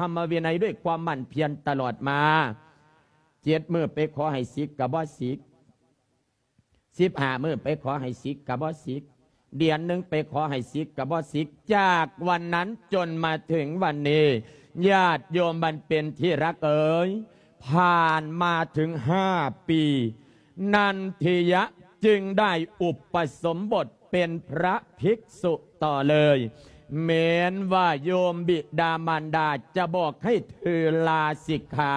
ธรรมวินัยด้วยความหมั่นเพียรตลอดมา เจ็ดมื้อไปขอให้สิกก็บ่สิก สิบห้ามื้อไปขอให้สิกก็บ่สิก เดือนหนึ่งไปขอให้สิกก็บ่สิก จากวันนั้นจนมาถึงวันนี้ ญาติโยมมันเป็นที่รักเอ๋ย ผ่านมาถึงห้าปี นันทิยะจึงได้อุปสมบทเป็นพระภิกษุต่อเลย แม้นว่าโยมบิดามารดาจะบอกให้เธอลาสิกขา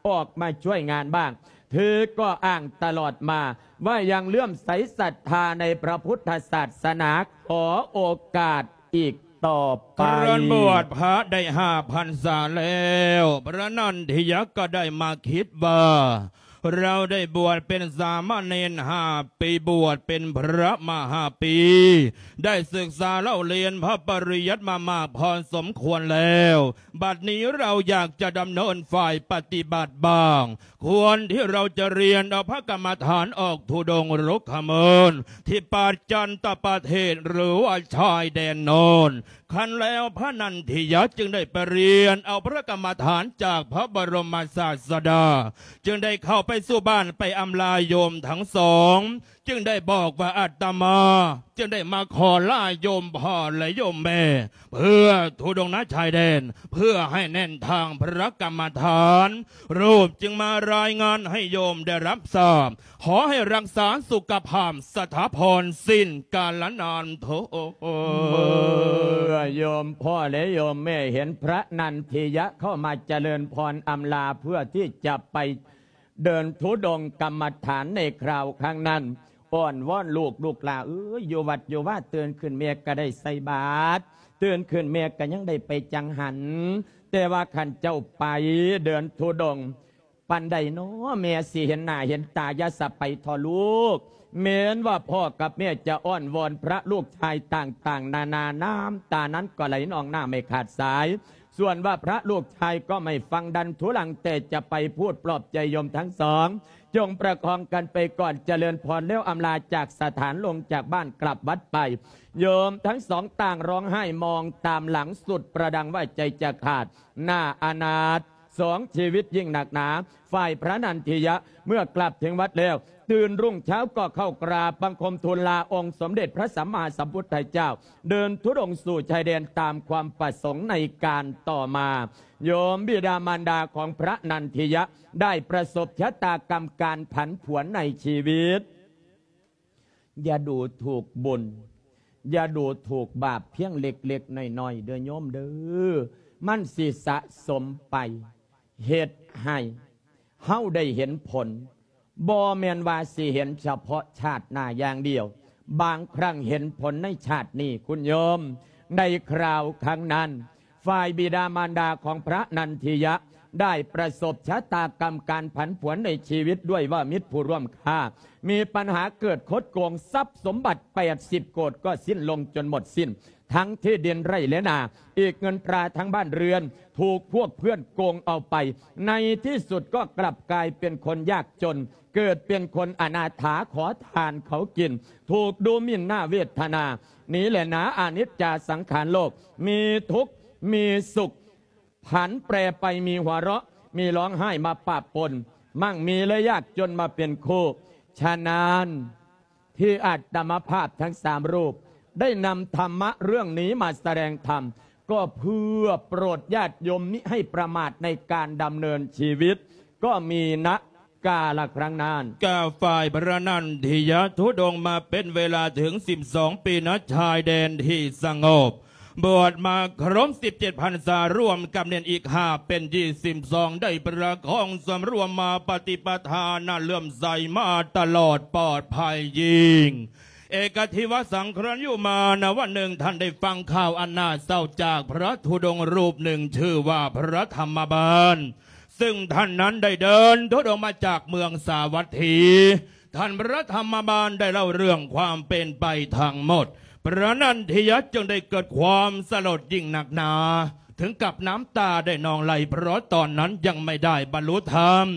ออกมาช่วยงานบ้าง เธอก็อ้างตลอดมาว่ายังเลื่อมใสศรัทธาในพระพุทธศาสนา ขอโอกาสอีกต่อไป ครั้นบวชพระได้ห้าพรรษาแล้ว พระนันทิยะก็ได้มาคิดว่า เราได้บวชเป็นสามเณรห้าปี บวชเป็นพระมาห้าปี ได้ศึกษาเล่าเรียนพระปริยัติมามากพอสมควรแล้ว บัดนี้เราอยากจะดำเนินฝ่ายปฏิบัติบ้าง ควรที่เราจะเรียนเอาพระกรรมฐานออกธุดงค์รุกขเมิน ที่ปาจันตประเทศ หรือว่าชายแดนโน้น ครั้นแล้วพระนันทิยะจึงได้ไปเรียนเอาพระกรรมฐานจากพระบรมศาสดา จึงได้เข้าไปสู่บ้าน ไปอำลาโยมทั้งสอง จึงได้บอกว่า อาตมาจึงได้มาขอลาโยมพ่อและโยมแม่ เพื่อธุดงค์ณชายแดน เพื่อให้แน่นทางพระกรรมฐาน รูปจึงมารายงานให้โยมได้รับทราบ ขอให้รักษาสุขภาพสถาพรสิ้นกาลนานเทอญ เมื่อโยมพ่อและโยมแม่เห็นพระนันทิยะเข้ามาเจริญพรอำลาเพื่อที่จะไปเดินธุดงค์กรรมฐานในคราวครั้งนั้น อ้อนวอนลูก ลูกหล่าเอ้ย อยู่วัดอยู่วา ตื่นขึ้นแม่ก็ได้ใส่บาตร ตื่นขึ้นแม่ก็ยังได้ไปจังหัน แต่ว่าคันเจ้าไปเดินธุดงค์ ปานใดน้อแม่สิเห็นหน้าเห็นตา อย่าสะไปเถาะลูก แม้นว่าพ่อกับแม่จะอ้อนวอนพระลูกชายต่างๆนานา น้ำตานั้นก็ไหลนองหน้าไม่ขาดสาย ส่วนว่าพระลูกชายก็ไม่ฟังดันทุรัง แต่จะไปพูดปลอบใจโยมทั้งสอง จงประคองกันไปก่อน เจริญพรแล้วอำลาจากสถาน ลงจากบ้านกลับวัดไป โยมทั้งสองต่างร้องไห้มองตามหลังสุดประดังว่าใจจะขาด น่าอนาถ สองชีวิตยิ่งหนักหนา ฝ่ายพระนันทิยะเมื่อกลับถึงวัดแล้ว ตื่นรุ่งเช้าก็เข้ากราบบังคมทูลลาองค์สมเด็จพระสัมมาสัมพุทธเจ้า เดินธุดงค์สู่ชายแดนตามความประสงค์ในการต่อมา โยมบิดามารดาของพระนันทิยะได้ประสบชะตากรรมการผันผวนในชีวิต อย่าดูถูกบุญ อย่าดูถูกบาปเพียงเล็กๆน้อยๆ เด้อโยมเด้อ มันสิสะสมไป เฮ็ดให้เฮาได้เห็นผล บ่แม่นว่าสิเห็นเฉพาะชาติหน้าอย่างเดียว บางครั้งเห็นผลในชาตินี้คุณโยม ในคราวครั้งนั้น ฝ่ายบิดามารดาของพระนันทิยะ ได้ประสบชะตากรรมการผันผวนในชีวิตด้วยว่ามิตรผู้ร่วมค้า มีปัญหาเกิดคดโกง ทรัพย์สมบัติแปดสิบโกฏก็สิ้นลงจนหมดสิ้น ทั้งที่ดินไร่และนา อีกเงินตราทั้งบ้านเรือน ถูกพวกเพื่อนโกงเอาไป ในที่สุดก็กลับกลายเป็นคนยากจน เกิดเป็นคนอนาถาขอทานเขากิน ถูกดูหมิ่นหน้าเวทนา นี้แหละหนาอนิจจาสังขารโลก มีทุกข์ มีสุข ผันแปรไป มีหัวเราะ มีร้องไห้มาปะปน มั่งมีและยากจนมาเป็นคู่ ฉะนั้น ที่อาตมาภาพทั้งสามรูป ได้นำธรรมะเรื่องนี้มาแสดงธรรม ก็เพื่อโปรดญาติโยมมิให้ประมาทในการดำเนินชีวิต ก็มีณกาลครั้งนั้น กาฝ่ายพระนันทิยะธุดงค์มาเป็นเวลาถึงสิบสองปี ณ ชายแดนที่สงบ บวชมาครบสิบเจ็ดพรรษา รวมกับเณรอีกห้าเป็นยี่สิบสอง ได้ประคองสำรวมมาปฏิปทา น่าเลื่อมใสมาตลอด ปลอดภัยยิ่ง เอกทิวสังครัญญูมา ณ วันหนึ่งท่านได้ฟังข่าวอันน่าเศร้าจากพระธุดงค์รูปหนึ่ง ชื่อว่าพระธรรมบาล ซึ่งท่านนั้นได้เดินธุดงค์มาจากเมืองสาวัตถี ท่านพระธรรมบาลได้เล่าเรื่องความเป็นไปทั้งหมด พระนันทิยะจึงได้เกิดความสลดยิ่งนักหนา ถึงกับน้ำตาได้นองไหล เพราะตอนนั้นยังไม่ได้บรรลุธรรม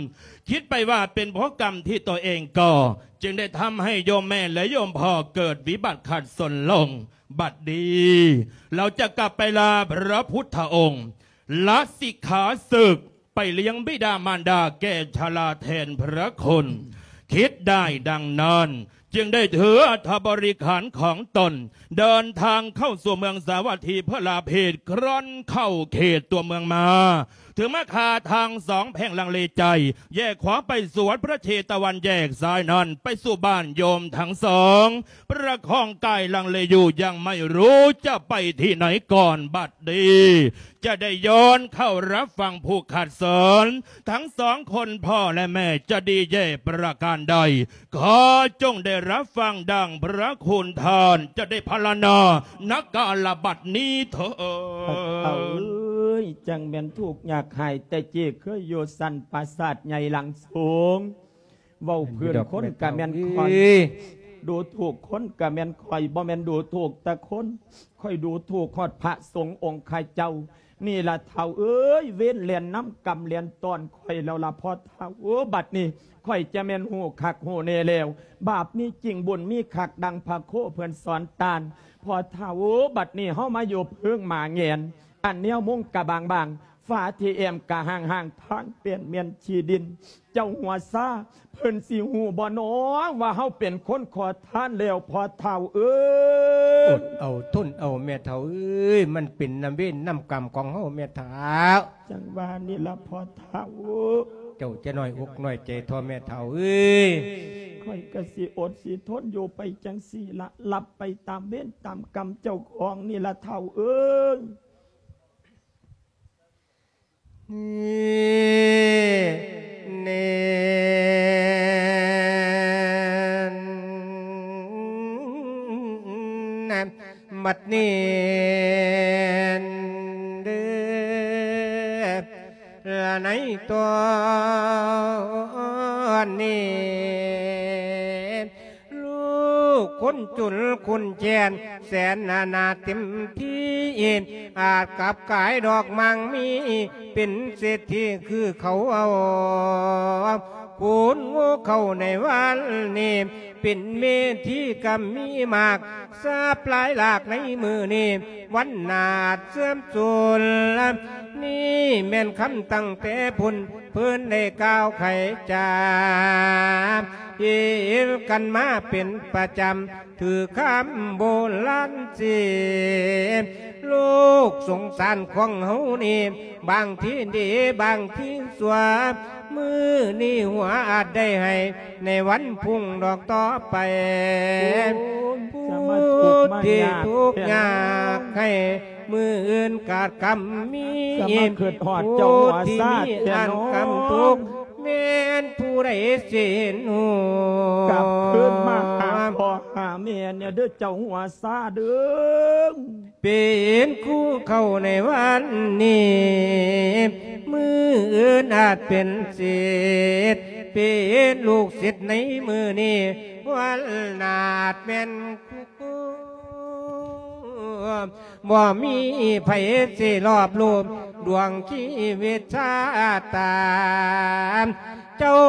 คิดไปว่าเป็นเพราะกรรมที่ตัวเองก่อ จึงได้ทำให้โยมแม่และโยมพ่อเกิดวิบัติขัดสนลง บัดนี้ เราจะกลับไปลาพระพุทธองค์ ລາສິກຂາສຶກ ໄປລ້ຽງບິດາມານດາແກ່ຊະລາແທນພະຄຸນ. ຄິດໄດ້ດັ່ງນັ້ນ ຈຶ່ງໄດ້ຖືອັດຖະບໍລິຂານຂອງຕົນ ເດີນທາງເຂົ້າສູ່ເມືອງສາວັດຖີ ເພື່ອລາເພດ ຄ່ອນເຂົ້າເຂດຕົວເມືອງມາ. ເຖິງມາຄາທັງສອງແພ່ງລັງເລໃຈ ແຍກຂວາໄປສວນພະເຊຕະວັນ ແຍກຊ້າຍນັ້ນໄປສູ່ບ້ານໂຍມທັງສອງ ປະຄອງກາຍລັງເລຢູ່ ຍັງໄມ່ຮູ້ຈະໄປທີ່ໃນກ່ອນ. ບັດນີ້ຈະໄດ້ຍ້ອນເຂົ້າຮັບຟັງຜູ້ຂັດເຊີນ ທັງສອງຄົນພໍ່ແລະແມ່ຈະດີແຍ່ປະການໃດ ຂໍຈົ່ງໄດ້ຮັບຟັງດັ່ງພະຄຸນທ່ານຈະໄດ້ພາລະນາ ນະກາລະບັດນີ້ເທີດ. ເອີຍ ຈັ່ງແມ່ນທຸກຍາກຫາຍ ແຕ່ກີ້ເຄີຍຢູ່ຊັ້ນປາສາດໃຫຍ່ຫຼັງສູງ ເວົ້າພື້ນຄົນກະແມ່ນຂ້ອຍ ດູຖືກຄົນກະແມ່ນຂ້ອຍ ບໍ່ແມ່ນດູຖືກແຕ່ຄົນ ຂ້ອຍດູຖືກຮອດພະສົງອົງຄະເຈົ້າ. ນີ້ລະເຖົ້າເອີຍ ເວນແລ່ນນຳກຳແລ່ນຕ້ອນຂ້ອຍແລ້ວລະພໍ່ເຖົ້າ. ໂອ້ ບັດນີ້ຂ້ອຍຈະແມ່ນຮູ້ຄັກຮູ້ແນ່ແລ້ວ ບາບມີຈິງບຸນມີຄັກ ດັ່ງພະໂຄເພິ່ນສອນຕານ ພໍ່ເຖົ້າ. ໂອ້ ບັດນີ້ເຮົາມາຢູ່ເພິງໝາແງນ ອັນແນວມຸງກະບາງໆ ຝາທີ່ແອ້ມກະຫ້າງໆ ທາງເປັນແມ່ນຂີ້ດິນ. ເຈົ້າຫົວຊາ ເພິ່ນຊິຮູ້ບໍ່ນໍ ວ່າເຮົາເປັນຄົນຂໍທານແລ້ວ ພໍ່ເຖົ້າເອີຍ? ອົດເອົາ ທົນເອົາ ແມ່ເຖົ້າເອີຍ ມັນເປັນນຳເວນນຳກຳຂອງເຮົາ ແມ່ເຖົ້າ. ຈັ່ງວ່ານີ້ລະພໍ່ເຖົ້າ ເຈົ້າຈະນ້ອຍອົກນ້ອຍໃຈເຖາະ ແມ່ເຖົ້າເອີຍ. ຂ້ອຍກະຊິອົດຊິທົນຢູ່ໄປຈັ່ງຊີ້ລະ ລັບໄປຕາມເວນຕາມກຳເຈົ້າຂອງນີ້ລະເຖົ້າເອີຍ. ນີ້ ນີ້ ບັດນີ້ເດີ ໃນຕອນນີ້ ລູກຄົນຈົນຄົນແຄ້ນ ແສນອະນາດເຕັມທີ່ ອາດກັບກາຍດອກໝາກມີ ເປັນເສດຖີຄືເຂົາເອົາ. ຄູນໂງ່ເຂົ້າໃນວັນນີ້ ເປັນເມທີກຳມີໝາກ ຊາບຫຼາຍຫຼາກໃນມື້ນີ້ ວັນໜ້າເສື່ອມສູນ. ນີ້ແມ່ນຄຳຕັ້ງແຕ່ພຸ້ນ ເພິ່ນໄດ້ກ່າວໄຂຈາ ເຮັດກັນມາເປັນປະຈຳ ຖືກຄຳໂບລານເສຍ ໂລກສົງສານຂອງເຮົານີ້ ບາງທີດີບາງທີຊົ່ວ ມື້ນີ້ຫົວອາດໄດ້ໃຫ້ ໃນວັນພຸ່ງດອກຕໍ່ໄປ ໂອ້ຍ ຜູ້ທີ່ທຸກຍາກໃຫ້ ມື້ອື່ນກາດກຳມີ ສາມາດຄິດຮອດເຈົ້າຫົວຊາແທ້ເນາະ ຜູ້ທີ່ມີອັນກຳທຸກ ແມ່ນຜູ້ໃດຊິເຫັນຮູ້ ກັບຄືນມາຫາພໍ່ຫາແມ່ແດ່ເດີ ເຈົ້າຫົວຊາເດີ. ເປັນຄູ່ເຂົ້າໃນວັນນີ້ ມື້ອື່ນອາດເປັນເສດ ເປັນລູກສິດໃນມື້ນີ້ ວັນໜ້າອາດແມ່ນຄູ່ ບໍ່ມີໃຜຊິລອບລວມດວງຊີວິດຊາຕາ ເຈົ້າ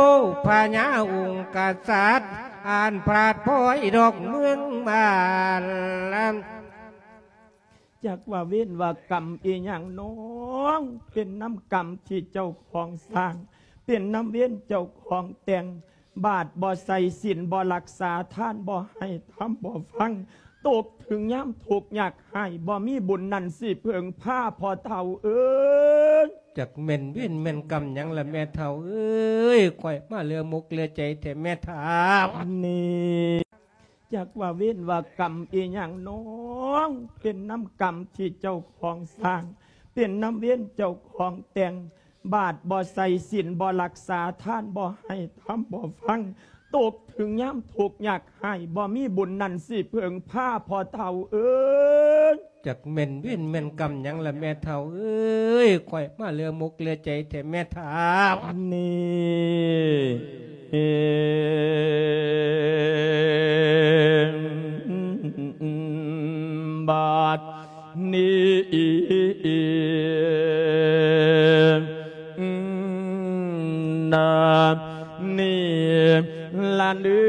ພະຍາອົງກະສັດ ອັນພາດພອຍດອກເມືອງບ້ານ. ຈັກວ່າເວນວ່າກຳອີ່ຫຍັງນ້ອງ ເປັນນຳກຳທີ່ເຈົ້າຂອງສ້າງ ເປັນນຳເວນເຈົ້າຂອງແຕ່ງ ບາດບໍ່ໃສ່ ສິນບໍ່ລັກສາ ທານບໍ່ໃຫ້ ທຳບໍ່ຟັງ ຕົກເຖິງຍາມທຸກຍາກໄຮ້ ບໍ່ມີບຸນນັ້ນຊິເພິ່ງພາ ພໍ່ເຖົ້າເອີຍ. ຈັກແມ່ນເວນແມ່ນກຳຫຍັງລະແມ່ເຖົ້າເອີຍ ຂ້ອຍມາເຫຼືອມົກເຫຼືອໃຈແທ້ແມ່ເຖົ້າ ນີ້. ຈັກວ່າເວນວ່າກຳອີ່ຫຍັງນ້ອງ ເປັນນຳກຳທີ່ເຈົ້າຂອງສ້າງ ເປັນນຳເວນເຈົ້າຂອງແຕ່ງ ບາດບໍ່ໃສ່ ສິນບໍ່ລັກສາ ທານບໍ່ໃຫ້ ທຳບໍ່ຟັງ ຕົກເຖິງຍາມທຸກຍາກໄຮ້ ບໍ່ມີບຸນນັ້ນຊິເພິ່ງພາ ພໍ່ເຖົ້າເອີຍ. ຈັກແມ່ນເວນແມ່ນກຳຫຍັງລະແມ່ເຖົ້າເອີຍ ຂ້ອຍມາເຫຼືອມົກເຫຼືອໃຈແທ້ແມ່ເຖົ້າ ນີ້. ບາດນີ້ນະ ນີ້ລະເດີ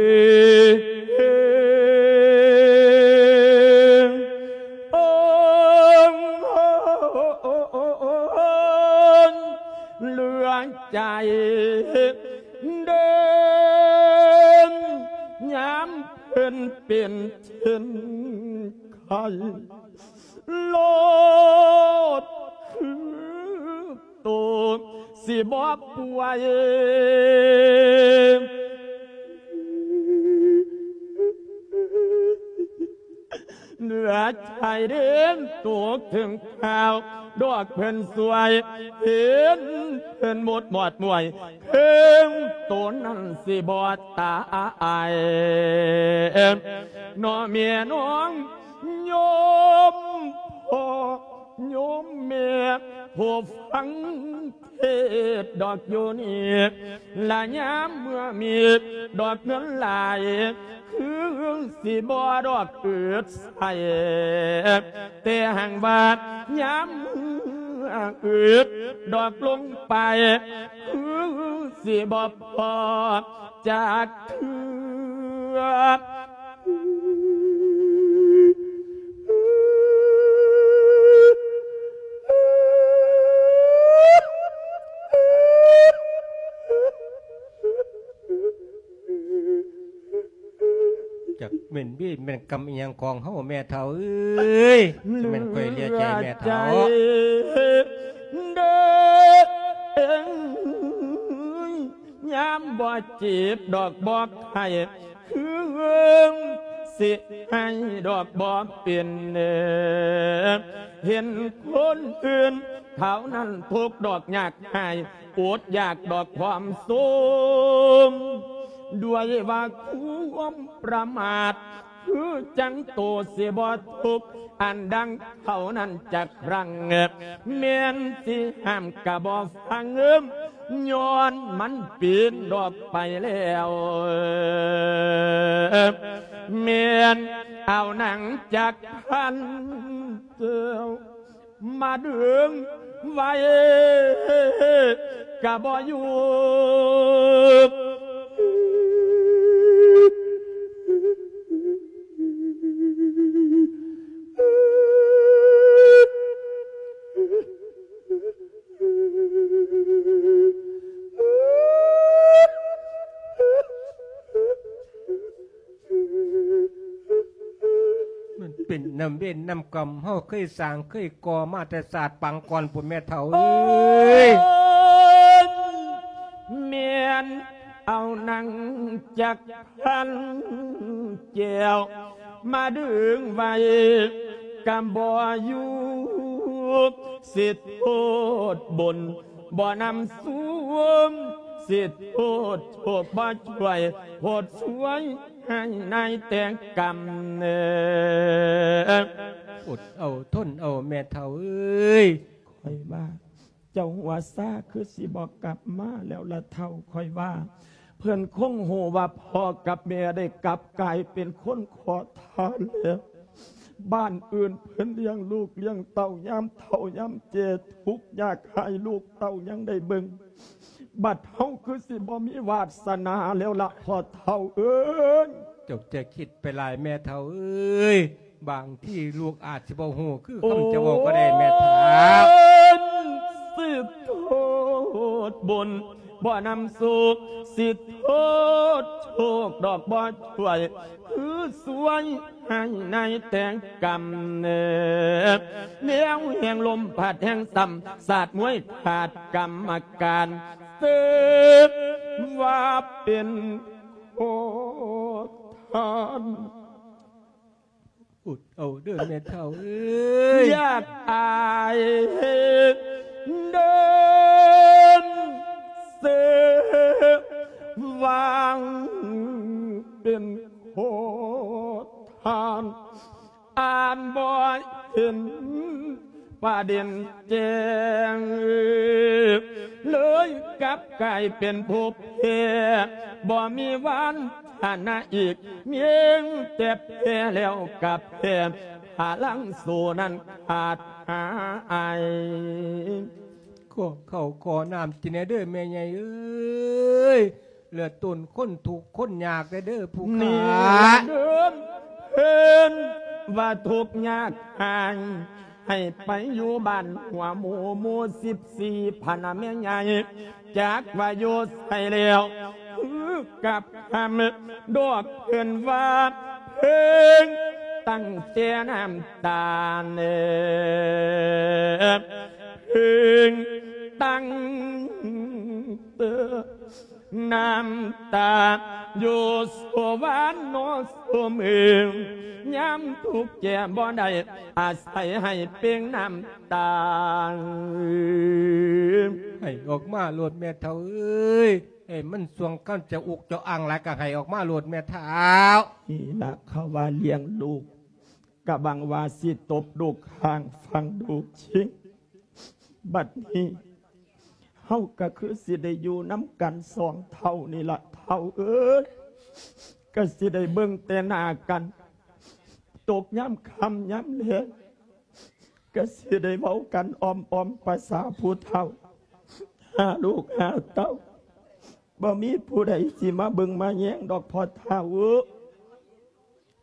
ໂອ້ ໃຈເດີນ ຍາມເພິ່ນເປັນເຊັ່ນໄຂ້ ໂລດຄືໂຕຊິບໍ່ປ່ວຍ ເໜືອໃຈເດີນໂຕເຖິງຂ່າວ ດອກເພິ່ນຊ່ວຍເຫັນເພິ່ນໝົດໝອດໝວຍ ເຖິງໂຕນັ້ນຊິບໍ່ຕາຍ ເນາະແມ່ນ້ອງໂຍມພໍ່ໂຍມແມ່ ຜູ້ຟັງເທດດອກຢູ່ນີ້ ລະຍາມເມື່ອມີດອກເງິນຫຼາຍ ຄືຊິບໍ່ດອກອຶດໃສ່ ແຕ່ຫາກວ່າຍາມເມື່ອອຶດດອກລົງໄປ ຄືຊິບໍ່ພໍຈັກເທື່ອ. ຈັກແມ່ນເວรແມ່ນກຳອີ່ຫຍັງຂອງເຮົາແມ່ເຖົ້າເອີຍ ຈັກແມ່ນຂ້ອຍເລີຍໃຈແມ່ເຖົ້າ ເດີ ຍາມບໍ່ເຈັບດອກບໍ່ໄຂ້ ຄືເອີງ ຊິໃຫ້ດອກບໍ່ເປັນ ເຫັນຄົນອື່ນເຂົານັ້ນທຸກດອກຍາກຫາຍ ອົດຢາກດອກຄວາມໂສມ ດ້ວຍວ່າຄວາມປະໝາດ ຄືຈັ່ງໂຕຊິບໍ່ທຸກ ອັນດັ່ງເຂົານັ້ນຈັກຄັ້ງ ແມ່ນຊິຫ້າມກະບໍ່ຟັງ ຍ້ອນມັນປີນດອກໄປແລ້ວ ແມ່ນເອົານາງຈັກພັນແກ້ວ ມາດຶງໄວ້ກະບໍ່ຢູ່ ມັນເປັນນຳເວນນຳກຳ ເຮົາເຄີຍສ້າງເຄີຍກໍ່ມາແຕ່ຊາດປາງກ່ອນພຸ້ນແມ່ເຖົ້າເອີຍ ແມ່ນເອົານາງຈັກພັນແກ້ວ ມາດຶງໄວ້ກະບໍ່ຢູ່ ຊິໂທດບຸນ ບໍ່ນຳສວມ ຊິໂທດໂຊກບໍ່ຊ່ວຍ ໂພດຊ່ວຍໃຫ້ນາຍແຕ່ງກຳເນີ ອົດເອົາທົນເອົາແມ່ເຖົ້າເອີຍ ຂ້ອຍວ່າ ເຈົ້າຫົວຊາຄືຊິບໍ່ກັບມາແລ້ວລະເຖົ້າ ຂ້ອຍວ່າ ເພິ່ນຄົງຮູ້ວ່າພໍ່ກັບແມ່ໄດ້ກັບກາຍເປັນຄົນຂໍທານແລ້ວ ບ້ານອື່ນເພິ່ນລ້ຽງລູກລ້ຽງເຕົ້າ ຍາມເຖົ້າຍາມແກ່ທຸກຍາກຫາຍ ລູກເຕົ້າຍັງໄດ້ເບິ່ງ ບັດເຮົາຄືຊິບໍ່ມີວາດສະໜາແລ້ວລະພໍ່ເຖົ້າເອີຍ. ເຈົ້າຈະຄິດໄປຫຼາຍແມ່ເຖົ້າເອີຍ ບາງທີລູກອາດຊິບໍ່ຮູ້ຄືຄຳເຈົ້າເວົ້າກໍໄດ້ແມ່ເຖົ້າ. ໂອ້ຍ ຊິໂທດບຸນ ບໍ່ນຳສຸກ ຊິໂທດໂຊກດອກບໍ່ຊ່ວຍ ຄືຊ່ວຍໃຫ້ນາຍແຕ່ງກຳເນີ ແນວແຫ່ງລົມພັດແຫ່ງຊ້ຳ ສາດມວຍຂາດກຳມະການ ເອີ້ນວ່າເປັນຂໍທານ. ອົດເອົາເດີແມ່ເຖົ້າເອີຍ ຢາກອາຍເດີນເສືອ ຫວັງເປັນຂໍທານ ອ່ານບໍ່ເຫັນ ປະເດັນແຈ້ງ ເລີຍກັບກາຍເປັນຜູ້ແພ້ ບໍ່ມີວານທະນາອີກ ມີແຕ່ແພ້ແລ້ວກັບແພ້ ພະລັງສູ້ນັ້ນຂາດຫາຍ. ຂໍເຂົ້າຂໍນ້ຳກິນແດ່ເດີແມ່ໃຫຍ່ເອີຍ ເຫຼືອຕົນຄົນທຸກຄົນຍາກແດ່ເດີຜູ້ຂ້າ ເດີນເພິ່ນວ່າທຸກຍາກຫາຍ ໃຫ້ໄປຢູ່ບ້ານຫົວໝູ່ ໝູ່ສິບສີ່ ພະນະແມ່ໃຫຍ່ ຈັກວ່າຢູ່ໃສແລ້ວ ຄືກັບຄຳດອກເພິ່ນວ່າ ເພິ່ງຕັ້ງແຕ່ນ້ຳຕາເນີ ເພິ່ງຕັ້ງແຕ່ ນ້ຳຕາຢູ່ສວນນໍສົມເອີງ ຍາມທຸກແກ່ບໍ່ໄດ້ ອາໄສໃຫ້ເປັ່ງນ້ຳຕາ. ໃຫ້ອອກມາໂລດແມ່ເຖົ້າເອີຍ ໃຫ້ມັນຊ່ວງຄັນຈະອຸກຈະອັ່ງຫຼາຍ ກໍໃຫ້ອອກມາໂລດແມ່ເຖົ້າ. ນີ້ລະເຂົາວ່າລ້ຽງລູກ ກະຫວັງວ່າຊິຕົບລູກຂ້າງຝັ່ງລູກຈິງ ບັດນີ້ເຮົາກະຄືຊິໄດ້ຢູ່ນຳກັນສອງເຖົ້ານີ້ລະເຖົ້າເອີຍ ກະຊິໄດ້ເບິ່ງແຕ່ໜ້າກັນ ຕົກຍາມຄ່ຳຍາມແລງ ກະຊິໄດ້ເວົ້າກັນອ້ອມໆ ພາສາຜູ້ເຖົ້າ ຫາລູກຫາເຕົ້າ ບໍ່ມີຜູ້ໃດຊິມາເບິ່ງມາແຍງດອກພໍ່ເຖົ້າ.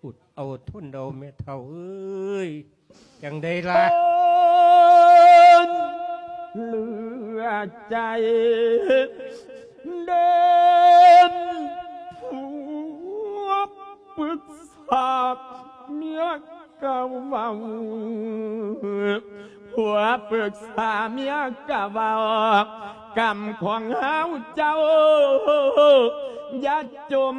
ອົດເອົາທົນເອົາແມ່ເຖົ້າເອີຍ ຈັ່ງໃດລະ ເຫຼືອໃຈເດີນ ຜົວປຶກສາເມຍກະເວົ້າ ຜົວປຶກສາເມຍກະເວົ້າ ກຳຂອງເຮົາເຈົ້າຢ່າຈົ່ມ.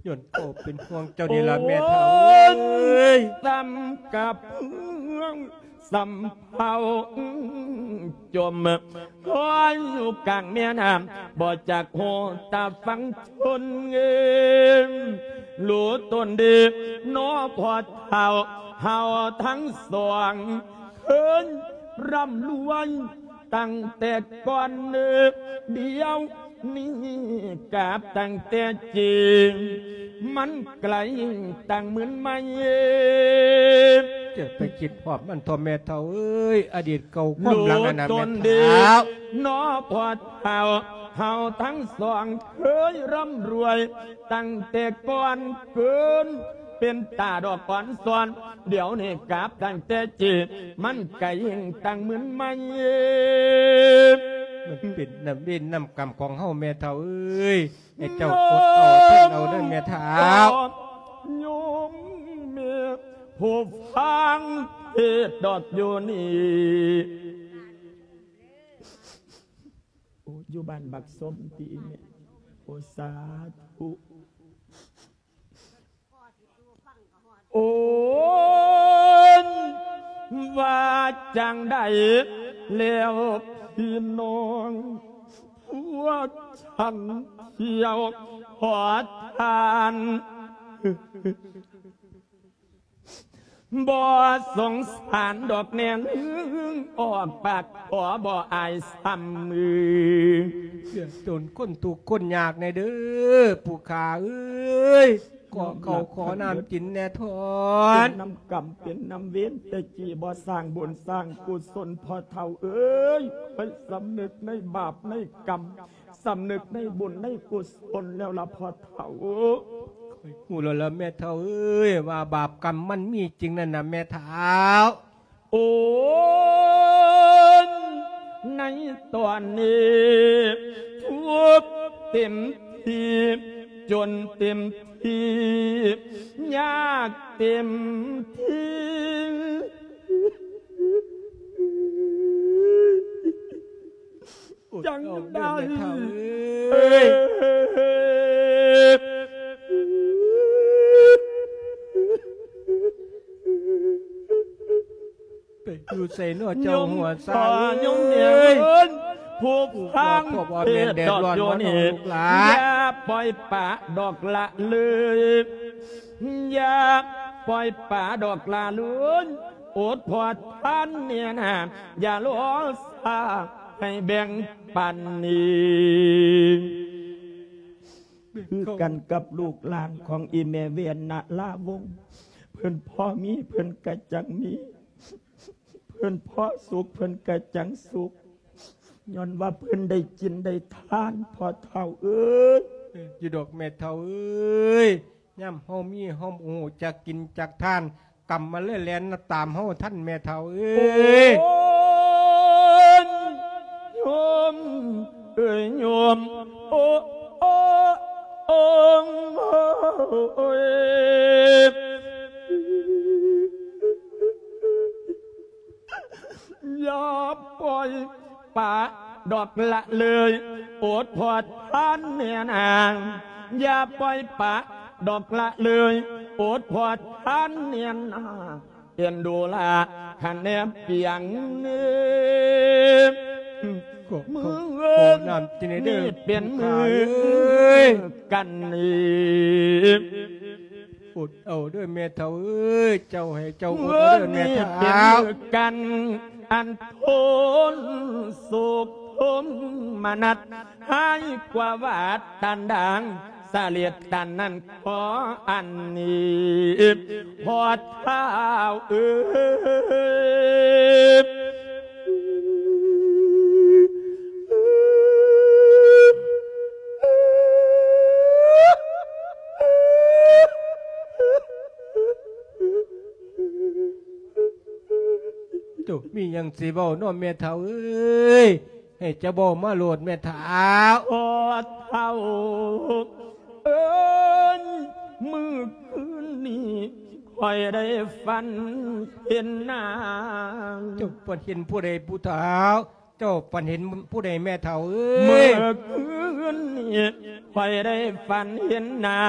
ຍ້ອນເຂົາເປັນຫ່ວງເຈົ້ານີ້ລະແມ່ເຖົ້າເອີຍ ສ່ຳກັບເມືອງ ສ່ຳເຜົ່າຈົ່ມ ຄອຍຢູ່ກາງແມ່ນ້ຳ ບໍ່ຈັກຮູ້ຕາຝັ່ງຊົນເອີຍ ຮູ້ຕົນດີນໍພໍ່ເຖົ້າ ເຮົາທັງສອງ ເຄີຍຮ່ຳລວຍຕັ້ງແຕ່ກ່ອນ ດຽວນີ້ກາບຕັ້ງແຕ່ຈີນ ມັນໄກຕັ້ງໝື່ນໄມ. ຈະໄປຄິດຮອດມັນເຖາະແມ່ເຖົ້າເອີຍ ອະດີດເກົ່າຄວາມຫຼັງອັນນັ້ນແມ່ເຖົ້າ ນໍພໍ່ເຖົ້າ ເຮົາທັງສອງເຄີຍຮ່ຳລວຍ ຕັ້ງແຕ່ກ່ອນເກີນ ເປັນຕາດອກອ່ອນຊອນ ດຽວນີ້ກາບຕັ້ງແຕ່ຈີນ ມັນກະຍິ່ງຕັ້ງມຶນໄມ. ມັນເປັນນ້ຳເວນນ້ຳກຳຂອງເຮົາແມ່ເຖົ້າເອີຍ ໃຫ້ເຈົ້າອົດເອົາທົນເອົາເດີແມ່ເຖົ້າ. ໂຍມແມ່ຜູ້ຟັງເທດດອກຢູ່ນີ້ ໂອ້ ຢູ່ບ້ານບັກສົມຕິແມ່ ໂອ້ ສາທຸ. ໂອ້ຍ ວ່າຈັ່ງໃດແລ້ວພີ່ນ້ອງ ພວກທ່ານທ່ຽວຂໍທານ ບໍ່ສົງສານດອກແນ່ ອອກປາກຂໍບໍ່ອາຍຊ້ຳມື. ເດືອດຮ້ອນຄົນທຸກຄົນຍາກແນ່ເດີ ຜູ້ຂ້າເອີຍ ຂໍເຂົ້າຂໍນ້ຳກິນແນ່ທອນ. ເປັນນຳກຳເປັນນຳເວນ ແຕ່ກີ້ບໍ່ສ້າງບຸນສ້າງກຸສົນ ພໍ່ເຖົ້າເອີຍ ໄປສຳນຶກໃນບາບໃນກຳ ສຳນຶກໃນບຸນໃນກຸສົນແລ້ວລະພໍ່ເຖົ້າ. ຂ້ອຍຮູ້ແລ້ວລະແມ່ເຖົ້າເອີຍ ວ່າບາບກຳມັນມີຈິງນັ້ນນະແມ່ເຖົ້າ. ໂອ້ຍ ໃນຕອນນີ້ທຸກເຕັມທີ່ ຈົນເຕັມທີ່ ຍາກເຕັມທີ່ ຈັ່ງໃດ ໄປຢູ່ໃສເນາະເຈົ້າຫົວຊາຍ ໂຍມພໍ່ໂຍມແມ່ເອີຍ ຜູ້ຟັງເທດດອກຢູ່ນີ້ ຢ່າປ່ອຍປະດອກລະເລີຍ ຢ່າປ່ອຍປະດອກລະເລີຍ ອົດພໍທານແນ່ນາ ຢ່າລໍຊ້າໃຫ້ແບ່ງປັນນີ້. ຄືກັນກັບລູກຫຼານຂອງອີ່ແມ່ແວ່ນນາລາວົງ ເພິ່ນພໍມີເພິ່ນກະຈັ່ງມີ ເພິ່ນພໍສຸກເພິ່ນກະຈັ່ງສຸກ ຍ້ອນວ່າເພິ່ນໄດ້ກິນໄດ້ທານ ພໍ່ເຖົ້າເອີຍ. ເອີ ຢູ່ດອກແມ່ເຖົ້າເອີຍ ຍາມເຮົາມີເຮົາບໍ່ຮູ້ຈັກກິນຈັກທານ ກຳມາເລີຍແລ່ນຕາມເຮົາທັນແມ່ເຖົ້າເອີຍ. ໂອ້ຍ ໂຍມເອີຍໂຍມ ໂອ້ ໂອ້ ໂອ້ ໂອ້ຍ ຢ່າປ່ອຍປະດອກລະເລີຍ ໂອດພໍ່ທ່ານແມ່ນາງ ຢ່າປ່ອຍປະດອກລະເລີຍ ໂອດພໍ່ທ່ານແມ່ນາງ ເປັນດູລາຄະແນນປຽງເອີຍ ມື້ນີ້ເປັນມື້ກັນນີ້ ອົດເອົາເດີແມ່ເຖົ້າເອີຍ ເຈົ້າໃຫ້ເຈົ້າອົດເອົາເດີແມ່ເຖົ້າ ມື້ນີ້ເປັນມື້ກັນອັນໂທນໂສມມະນັດ ຮ້າຍກວ່າວາດຕັນດາງ ສະເລັດຕັນນັ້ນຂໍອັນນີ້ ພໍ່ທ້າວເອີຍ. ໂຕ ມີຫຍັງຊິເວົ້າເນາະແມ່ເຖົ້າເອີຍ ໃຫ້ເຈົ້າເວົ້າມາໂລດແມ່ເຖົ້າ. ພໍ່ເຖົ້າເອີຍ ມື້ຄືນນີ້ຂ້ອຍໄດ້ຝັນເຫັນນາງ. ເຈົ້າຝັນເຫັນຜູ້ໃດຜູ້ເຖົ້າ? ເຈົ້າຝັນເຫັນຜູ້ໃດແມ່ເຖົ້າເອີຍ? ມື້ຄືນນີ້ຂ້ອຍໄດ້ຝັນເຫັນໜ້າ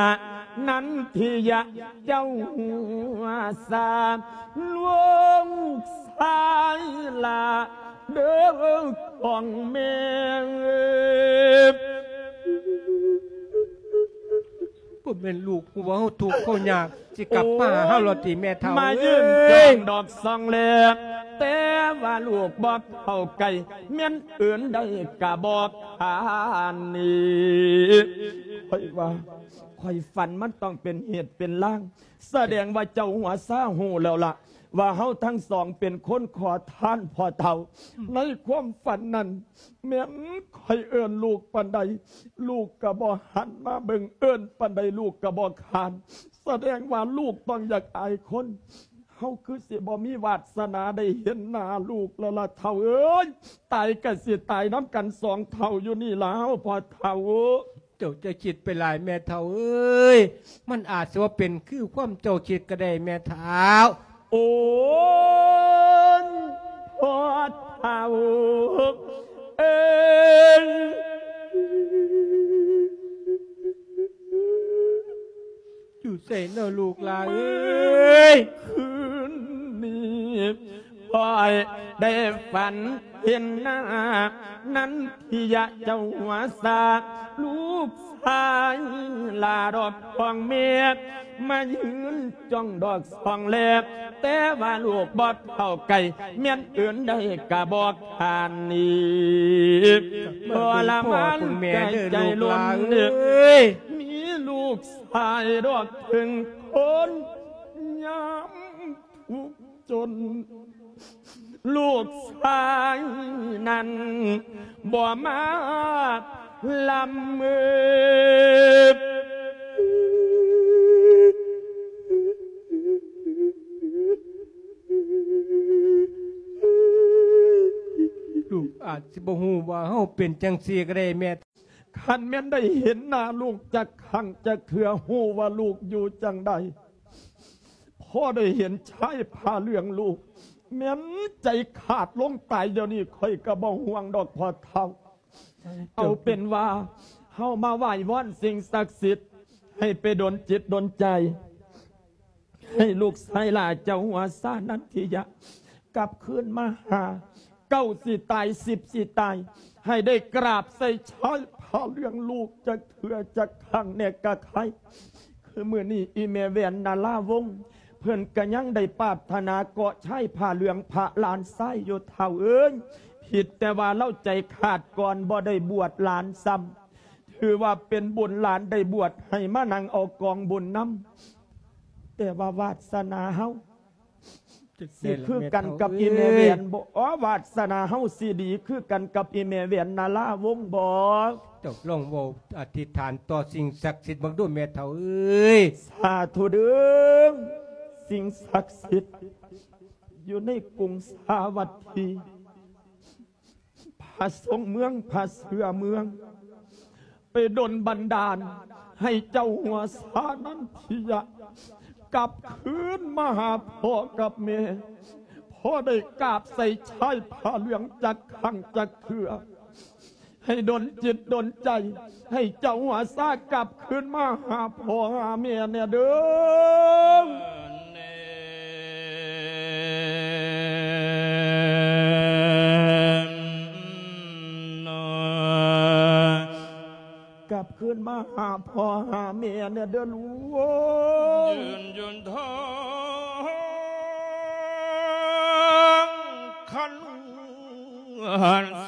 ນັນທິຍະເຈົ້າຫົວສາ ລູກຊາຍຫຼ້າເດີຂອງແມ່. ບໍ່ແມ່ນລູກຮູ້ວ່າເຮົາທຸກເຮົາຍາກ ຊິກັບມາຫາເຮົາລະຕິແມ່ເຖົ້າ ມາຢືນຈ້ອງດອກສ່ອງແລ ແຕ່ວ່າລູກບໍ່ເຂົ້າໃກ້ ແມ່ນເອີ້ນໄດ້ກະບໍ່ຄານນີ້. ຂ້ອຍວ່າ ຂ້ອຍຝັນມັນຕ້ອງເປັນເຫດເປັນລາງ ສະແດງວ່າເຈົ້າຫົວຊາຮູ້ແລ້ວລະ ວ່າເຮົາທັງສອງເປັນຄົນຂໍທານພໍ່ເຖົ້າ. ໃນຄວາມຝັນນັ້ນ ແມ່ນຂ້ອຍເອີ້ນລູກປານໃດ ລູກກະບໍ່ຫັນມາເບິ່ງ ເອີ້ນປານໃດລູກກະບໍ່ຄານ ສະແດງວ່າລູກຕ້ອງຢາກອາຍຄົນ ເຮົາຄືຊິບໍ່ມີວາດສະໜາໄດ້ເຫັນໜ້າລູກແລ້ວລະເຖົ້າເອີຍ. ຕາຍກະຊິຕາຍນຳກັນສອງເຖົ້າຢູ່ນີ້ລະເຮົາພໍ່ເຖົ້າ. ເຈົ້າຈະຄິດໄປຫຼາຍແມ່ເຖົ້າເອີຍ ມັນອາດຊິບໍ່ເປັນຄືຄວາມເຈົ້າຄິດກະໄດ້ແມ່ເຖົ້າ. ໂອ້ຍ ພໍ່ເຖົ້າເອີຍ ຢູ່ໃສເນາະລູກຫຼ້າເອີຍ? ຄືນນີ້ ຂ້ອຍໄດ້ຝັນເຫັນໜ້າ ນັນທິຍະເຈົ້າຫົວສາ ລູກຊາຍຫຼ້າດອກຂອງແມ່ ມາຢືນຈ້ອງດອກສ່ອງແລ ແຕ່ວ່າລູກບໍ່ເຂົ້າໃກ້ ແມ່ນເອີ້ນໄດ້ກະບໍ່ຄານນີ້ ທໍລະມານແກ່ໃຈລົ້ນເດີ ມີລູກຊາຍດອກເຖິງຄົນຍາມ ທຸກຈົນ ລູກຊາຍນັ້ນບໍ່ມາລຳເມີ. ລູກອາດຊິບໍ່ຮູ້ວ່າເຮົາເປັນຈັ່ງຊີ້ກະໄດ້ແມ່. ຄັນແມ່ນໄດ້ເຫັນໜ້າລູກຈັກຄັ້ງຈັກເທື່ອ ຮູ້ວ່າລູກຢູ່ຈັ່ງໃດ. ພໍໄດ້ເຫັນຊາຍຜ້າເຫຼືອງລູກ ແມ່ນໃຈຂາດລົງຕາຍດຽວນີ້ ຂ້ອຍກະບໍ່ຫ່ວງດອກພໍ່ເຖົ້າ. ເອົາເປັນວ່າເຮົາມາໄຫວ້ວອນສິ່ງສັກສິດ ໃຫ້ໄປດົນຈິດດົນໃຈ ໃຫ້ລູກຊາຍຫຼ້າເຈົ້າຫົວສາ ນັນທິຍະ ກັບຄືນມາຫາ ເກົ້າຊິຕາຍ ສິບຊິຕາຍ ໃຫ້ໄດ້ກາບໃສ່ຊາຍຜ້າເຫຼືອງລູກຈັກເທື່ອຈັກຄັ້ງແດ່ກະໄຄ. ຄືມື້ນີ້ອີ່ແມ່ແວ່ນນາລາວົງ ເພິ່ນກະຍັງໄດ້ປາດຖະໜາເກາະຊາຍຜ້າເຫຼືອງພະຫຼານຊາຍຢູ່ເຖົ້າເອີຍ. ຜິດແຕ່ວ່າລາວໃຈຂາດກ່ອນ ບໍ່ໄດ້ບວດຫຼານຊ້ຳ. ເ ຖືວ່າເປັນບຸນຫຼານໄດ້ບວດໃຫ້ມານັ່ງເອົາກອງບຸນນຳ. ແຕ່ວ່າວາດສະໜາເຮົາ ຈັກ ຊິຄືກັນກັບອີ່ແມ່ແຫວນບໍ່? ອໍ ວາດສະໜາເຮົາຊິດີຄືກັນກັບອີ່ແມ່ແຫວນນາລາວົງບໍ່? ຕົກລົງເວົ້າອະທິຖານຕໍ່ສິ່ງສັກສິດເບິ່ງດູແມ່ເຖົ້າເອີຍ. ສາທຸເດີ. ສິ່ງສັກສິດຢູ່ໃນກຸງສາວັດຖີ ພະຊົງເມືອງ ພະເຊືອເມືອງ ໄປດົນບັນດານໃຫ້ເຈົ້າຫົວສານັນທິຍະ ກັບຄືນມາຫາພໍ່ກັບແມ່ ພໍໄດ້ກາບໃສ່ຊາຍຜ້າເຫຼືອງຈັກຄັ້ງຈັກເທື່ອ. ໃຫ້ດົນຈິດດົນໃຈ ໃຫ້ເຈົ້າຫົວສາກັບຄືນມາຫາພໍ່ຫາແມ່ແດ່ເດີ. ກັບຄືນມາຫາພໍ່ຫາແມ່ແດ່ເດີລູກ. ຍືນຍົນທອງຄັນ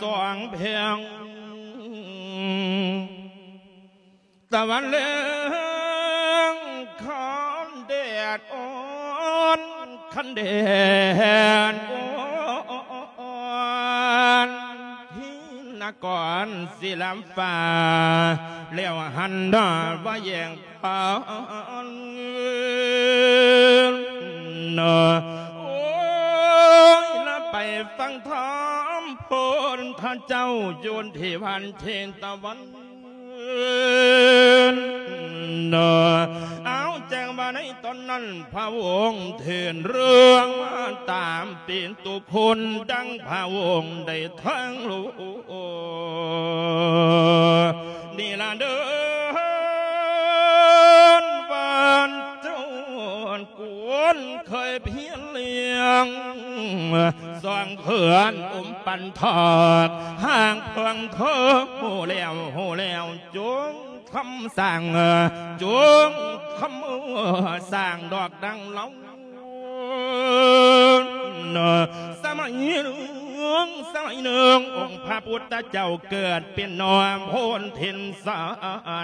ສອງແພງ ຕາວັນແລງຄັນແດດອ່ອນ ຄັນແດດອ່ອນ ທີ່ນະກອນສິລຳຟ້າ ແລ້ວຫັນໜ້າວ່າແຍງ ໂອ້ຍ ລະໄປຟັງທຳພຸດທະເຈົ້າຢູ່ທີ່ວັດເທດຕະວັນ. ເອົາ ແຈ້ງວ່າໃນຕອນນັ້ນ ພະອົງເທດເລື່ອງມາຕາມປິຕຸພຸນ ດັ່ງພະອົງໄດ້ແຖງໂລ ນີ້ລະເດີ ບ້ານເຈົ້າກວນເຄີຍພຽນລ້ຽງ ສອງເຂື່ອນອຸມປັນທອດ ຫາກເພິ່ງເທີຮູ້ແລ້ວ ຮູ້ແລ້ວ ຈົ່ງຄຳສ້າງ ຈົ່ງຄຳສ້າງດອກດັ່ງເລົ່າ. ສະໄໝໜຶ່ງ ສະໄໝໜຶ່ງ ອົງພະພຸດທະເຈົ້າເກີດເປັນໜໍ່ໂພນເທັນສາ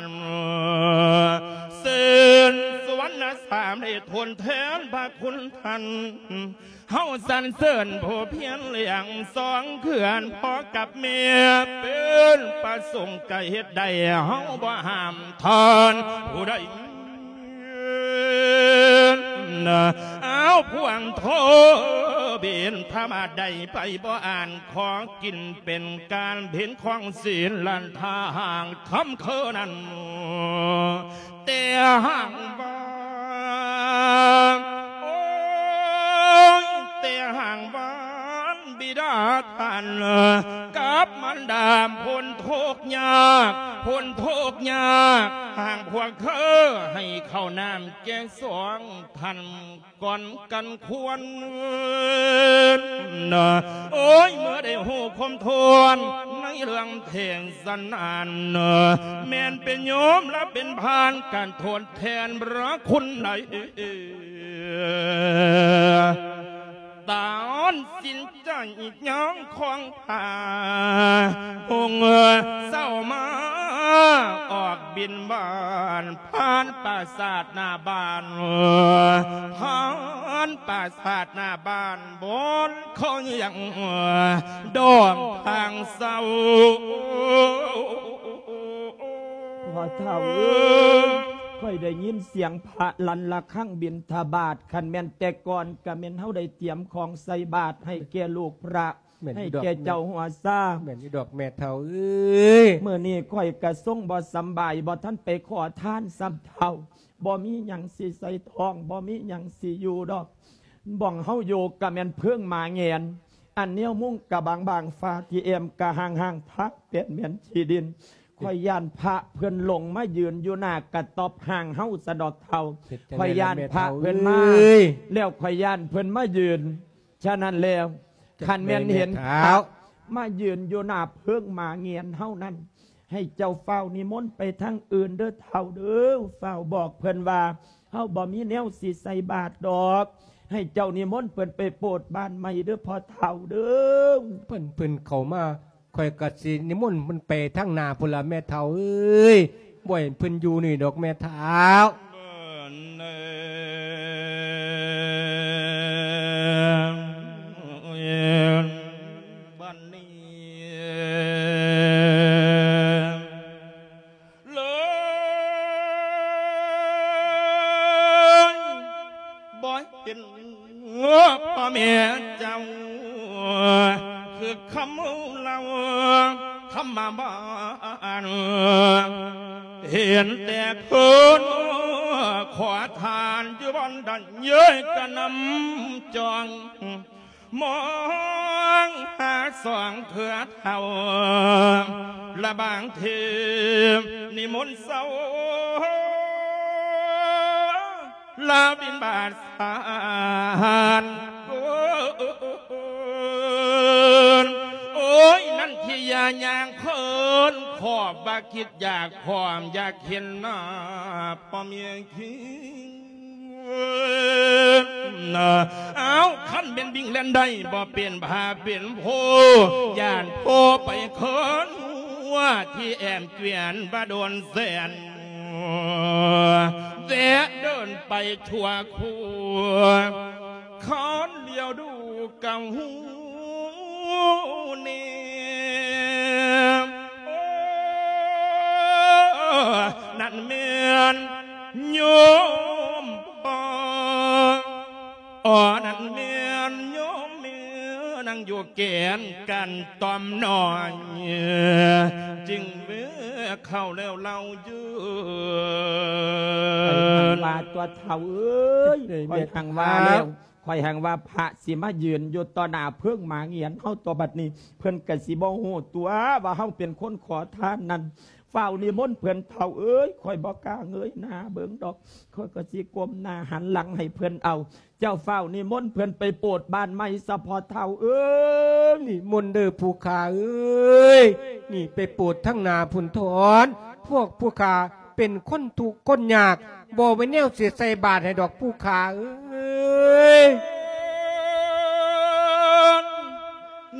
ນ ເຊີນສຸວັນນະສາມໄດ້ທົນແທນພະຄຸນທ່ານ ເຮົາສັນເສີນຜູ້ພຽນລ້ຽງສອງເຂື່ອນພໍ່ກັບແມ່ ເປັນປະສົງກະເຮັດໄດ້ ເຮົາບໍ່ຫ້າມທ່ານຜູ້ໃດ. ເອົາ ພວງໂທບິນທະບາດໄດ້ໄປບໍ່ອ່ານ ຂໍກິນເປັນການເພັນຂອງສິນລັນທາຫາງຄຳຄືນັ້ນ ແຕ່ຫາງວ່າ ໂອ້ຍ ແຕ່ຫາງວ່າ ບິດາທ່ານກັບມານດາພົ້ນທຸກຍາກ ພົ້ນທຸກຍາກ ຫາກພວກເຂົາໃຫ້ເຂົ້ານ້ຳແກ່ສອງທ່ານກ່ອນກັນຄວນ. ໂອ້ຍ ເມື່ອໄດ້ຮູ້ຄວາມຖ້ວນໃນເລື່ອງເທດສະນານ ແມ່ນເປັນໂຍມ ແລະ ເປັນພານການທົດແທນພະຄຸນໃດ ຕານສິນໃຈຍ່າງຂອງພະອົງເຈົ້າມາອອກບິນບາດ ຜ່ານປາສາດໜ້າບ້ານ ຜ່ານປາສາດໜ້າບ້ານ ບ່ອນເຂົາຍັງດອງທາງເຊົາ. ພໍ່ເຖົ້າເອີຍ ຂ້ອຍໄດ້ຍິນສຽງພະລັ່ນລະຄັງບິນທະບາດ ຄັນແມ່ນແຕ່ກ່ອນກະແມ່ນເຮົາໄດ້ຕຽມຂອງໃສ່ບາດໃຫ້ແກ່ລູກພະ ໃຫ້ແກ່ເຈົ້າຫົວຊາ. ແມ່ນຢູ່ດອກແມ່ເຖົ້າເອີຍ ມື້ນີ້ຂ້ອຍກະຊົງບໍ່ສຳບາຍ ບໍ່ທັນໄປຂໍທານຊ້ຳເຖົ້າ ບໍ່ມີຫຍັງຊິໃສ່ທ້ອງ ບໍ່ມີຫຍັງຊິຢູ່ດອກ ບ່ອນເຮົາຢູ່ກະແມ່ນເພິງໝາແງນ ອັນແນວມຸງກະບາງໆ ຝາທີ່ແອ້ມກະຮ້າງໆ ທາງແປ້ນແມ່ນຂີ້ດິນ. ຂ້ອຍຢ້ານພະເພິ່ນຫຼົງມາຢືນຢູ່ໜ້າກະຕ໊ອບຮ່າງເຮົາຊະດອກເຖົ້າ ຂ້ອຍຢ້ານພະເພິ່ນມາ ແລ້ວຂ້ອຍຢ້ານເພິ່ນມາຢືນ. ສະນັ້ນແລ້ວ ຄັນແມ່ນເຫັນພະມາຢືນຢູ່ໜ້າເພິງໝາແງນເຮົານັ້ນ ໃຫ້ເຈົ້າຟ້າວນິມົນໄປທາງອື່ນເດີເຖົ້າເດີ ຟ້າວບອກເພິ່ນວ່າ ເຮົາບໍ່ມີແນວຊິໃສ່ບາດດອກ ໃຫ້ເຈົ້ານິມົນເພິ່ນໄປໂປດບ້ານໃໝ່ເດີພໍ່ເຖົ້າເດີ. ເພິ່ນ ເພິ່ນເຂົ້າມາ ຂ້ອຍກໍຊິນິມົນເພິ່ນໄປທາງໜ້າພຸ້ນລະແມ່ເຖົ້າເອີຍ, ບໍ່ໃຫ້ເພິ່ນຢູ່ນີ້ດອກແມ່ເຖົ້າ. ບັດນີ້ ເລີຍບໍ່ເຫັນພໍ່ແມ່ເຈົ້າ ຄືຄຳເລົ່າຄຳມາບ້ານ ເຫັນແຕ່ຄົນຂໍທານຢູ່ບ່ອນໃດ ເອີຍກະນຳຈອງ ມອງຫາສອງເທື່ອເທົ່າ ລະບາງທີນິມົນເຊົ້າ ລາບິນບາດສານ ໂອ້ຍ ນັ້ນທີ່ຢ່າຍ່າງເພິ່ນ ຂໍບໍ່ຄິດຢາກພ້ອມຢາກເຫັນໜ້າພໍ່ແມ່ ອ້າວ ຄັນແມ່ນວິ່ງແລ່ນໄດ້ ບໍ່ເປັນພາເປັນໂພ ຢ້ານໂພໄປເຄີນຫົວ ທີ່ແອມກວຽນບໍ່ໂດນແສນ ແວະເດີນໄປທົ່ວຄົວ ຄັນຫຼຽວດູກໍຮູ້ແນ່ ນັ້ນແມ່ນໂຍມພໍ່ ອໍ ນັ້ນແມ່ນໂຍມແມ່ ນັ່ງຢູ່ແກນກັນຕ່ອມນ້ອຍ ຈຶ່ງເມື່ອເຂົ້າແລ້ວເລົ່າຢືນ ຂ້ອຍຫັ້ນວ່າຕົວເຖົ້າເອີຍ ຂ້ອຍຫັ້ນວ່າແລ້ວ ຂ້ອຍຫັ້ນວ່າພະຊິມາຢືນຢູ່ຕໍ່ໜ້າເພີງໝາກຫງຽນເຮົາຕົວະ ບັດນີ້ເພິ່ນກໍຊິບໍ່ຮູ້ຕົວະວ່າເຮົາເປັນຄົນຂໍທານນັ້ນ ຟ້າວນິມົນເພິ່ນເຖົ້າເອີຍ ຂ້ອຍບໍ່ກ້າເງີຍໜ້າເບິ່ງດອກ ຂ້ອຍກໍຊິກົ້ມໜ້າຫັນຫຼັງໃຫ້ເພິ່ນເອົາ ເຈົ້າຟ້າວນິມົນເພິ່ນໄປໂປດບ້ານໃໝ່ຊະພໍ່ເຖົ້າເອີຍ ນິມົນເດີຜູ້ຂ້າເອີຍ ນີ້ໄປໂປດທາງໜ້າພຸ້ນຖອນ ພວກຜູ້ຂ້າເປັນຄົນທຸກຄົນຍາກ ບໍ່ມີແນວຊິໃສ່ບາດໃຫ້ດອກຜູ້ຂ້າເອີຍ.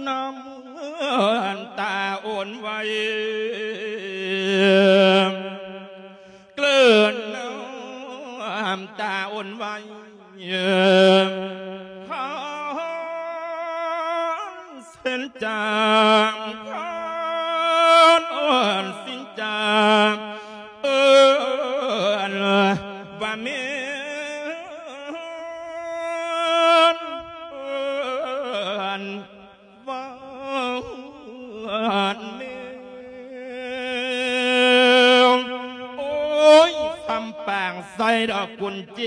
ນ້ຳຕາອ່ອນໄຫວ ເກິ່ນນ້ຳຕາອ່ອນໄຫວ ຜ່ານເສັ້ນຈາງ ຜ່ານເສັ້ນຈາງ ເອີ້ນວ່າແມ່ນ ເອີ້ນ ວ່າແມ່ນ ໂອ້ຍ ຊຳປາງໃສ່ດອກກຸນເຈ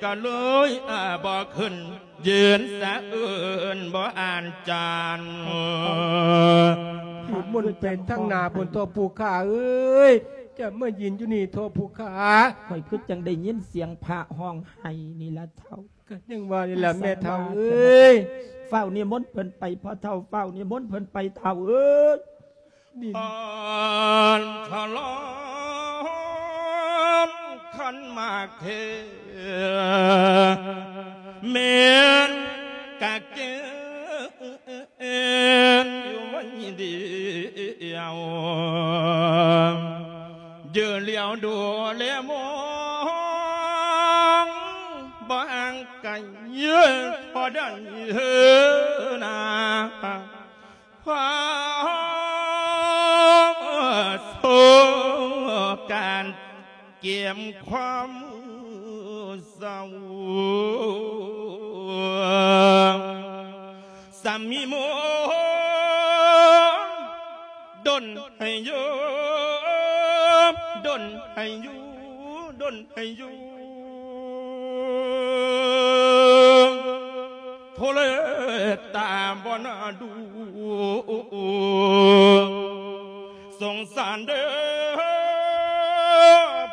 ກະເລີຍ ອາ ບໍ່ຂຶ້ນ ຢືນສະເອີ້ນບໍ່ອ່ານຈານ ນິມົນໄປທາງໜ້າພຸ້ນເຖາະຜູ້ຂ້າເອີຍ ຈະມາຢືນຢູ່ນີ້ເຖາະຜູ້ຂ້າ ຂ້ອຍຄືຈັ່ງໄດ້ຍິນສຽງພະຮ້ອງໄຫ້ນີ້ລະເຖົ້າ. ກໍຍັງວ່ານີ້ລະແມ່ເຖົ້າເອີຍ ຟ້າວນິມົນເພິ່ນໄປພໍ່ເຖົ້າ ຟ້າວນິມົນເພິ່ນໄປເຖົ້າເອີຍ ນີ້ ອານທະລອນຄັນໝາກເທ ແມ່ນກະເກນຢູ່ໄວ້ດຽວ ເຢີລຽວດູແລມອງ ບໍ່ຫ່າງໄກພໍໄດ້ເຮີນາ ຄວາມໂສການກຽມຄວາມເສົ້າ ສາມີໝົດ ດົນໃຫ້ຢູ່ ດົນໃຫ້ຢູ່ ດົນໃຫ້ຢູ່ ໂທເລຕາບໍ່ໜ້າດູ ສົງສານເດີ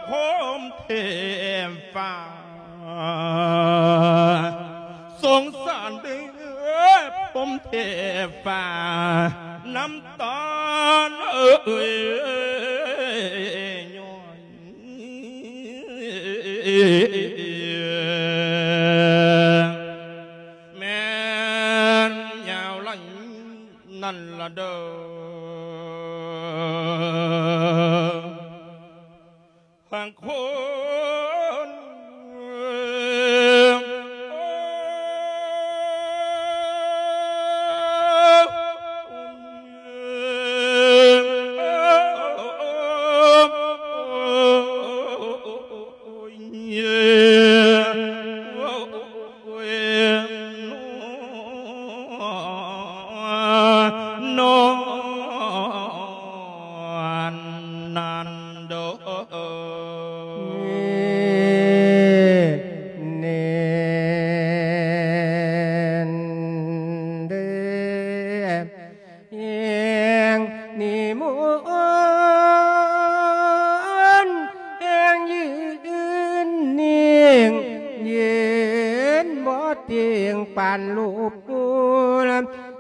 ພົມເທບຟ້າ ສົງສານເດີພົມເທບຟ້າ ນ້ຳຕາເອີຍຍ້ອຍ ແມ່ນຍາວໄຫຼນັ້ນລະເດີ.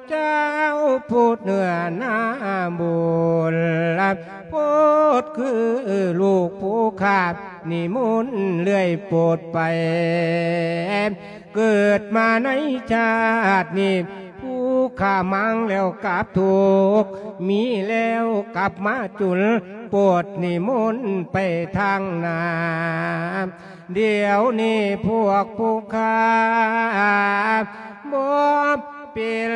ເຈົ້າຜູ້ເໜືອໜ້າບຸນ ໂພດຄືລູກຜູ້ຂ້າ ນິມົນເລື້ອຍໂປດໄປ ເກີດມາໃນຊາດນີ້ ຜູ້ຂ້າມາງແລ້ວກັບທຸກ ມີແລ້ວກັບມາຈຸນ ໂປດນິມົນໄປທາງໜ້າ ດຽວນີ້ພວກຜູ້ຂ້າບໍ່ເປັນ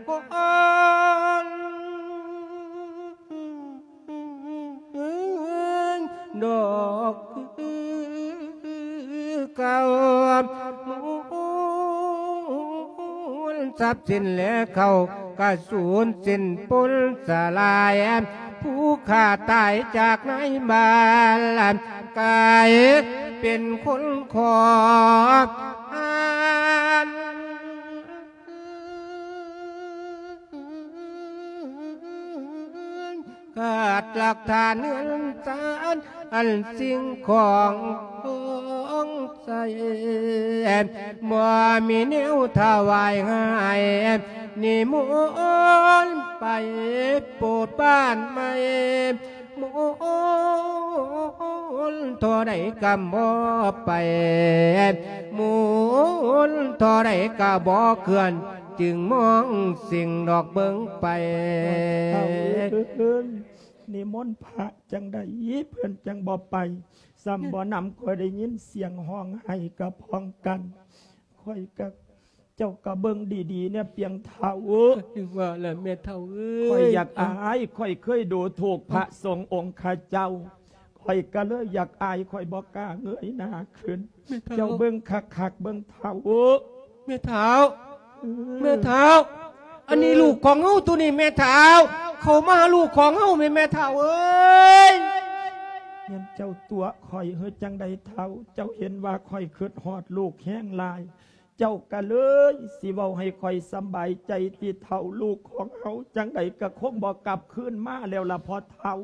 ຄົນ ດອກຄືເກົ່າ ທລັບສິນແລເຂົ້າກະສູນສິ້ນປົນສະຫຼາຍ ຜູ້ຂ້າຕາຍຈາກໃນບ້ານ ກາຍເປັນຄົນຂອງ ຂາດຫຼັກຖານເຮືອນຊານ ອັນສິ່ງຂອງຂອງໃຊ້ ບໍ່ມີແນວຖວາຍໃຫ້ ນິມົນໄປໂປດບ້ານໃໝ່ ໝູນທໍ່ໃດກະບໍ່ໄປ ໝູນທໍ່ໃດກະບໍ່ເຄື່ອນ ຈຶ່ງມອງສິ່ງດອກເບິ່ງໄປ ເອີ ນິມົນພະຈັ່ງໃດເພິ່ນຈັ່ງບໍ່ໄປ ຊ້ຳບໍ່ນຳຂ້ອຍໄດ້ຍິນສຽງຮ້ອງໄຫ້ກະພ້ອງກັນ ຂ້ອຍກະ ເຈົ້າກະເບິ່ງດີໆແດ່ ປຽງເຖົ້າ ຄືວ່າແຫຼະແມ່ເຖົ້າເອີຍ ຂ້ອຍຢາກອາຍ ຂ້ອຍເຄີຍດູຖູກພະສົງອົງຄະເຈົ້າ ຂ້ອຍກະເລີຍຢາກອາຍ ຂ້ອຍບໍ່ກ້າເງີຍໜ້າຂຶ້ນ ແມ່ເຖົ້າ ເຈົ້າເບິ່ງຄັກໆ ເບິ່ງເຖົ້າ ແມ່ເຖົ້າ ເອີ ແມ່ເຖົ້າ ອັນນີ້ລູກຂອງເຮົາໂຕນີ້ແມ່ເຖົ້າ ເຂົ້າມາຫາລູກຂອງເຮົາແມ່ ແມ່ເຖົ້າເອີຍ ແມ່ນເຈົ້າຕົວະຂ້ອຍເຮີຈັ່ງໃດເຖົ້າ ເຈົ້າເຫັນວ່າຂ້ອຍຄຶດຮອດລູກແຮງຫຼາຍ ເຈົ້າກະເລີຍຊິເວົ້າໃຫ້ຂ້ອຍສຳບາຍໃຈຕິເຖົ້າ ລູກຂອງເຮົາຈັ່ງໃດກະຄົງບໍ່ກັບຄືນມາແລ້ວລະພໍ່ເຖົ້າ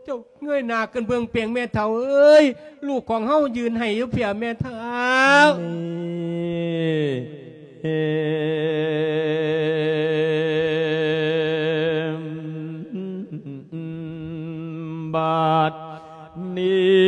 ເຈົ້າເງີຍໜ້າຂຶ້ນເບິ່ງເປງແມ່ເຖົ້າເອີຍ ລູກຂອງເຮົາຢືນໄຫ້ຢູ່ເພຍແມ່ເຖົ້າ ນີ້ ບາດນີ້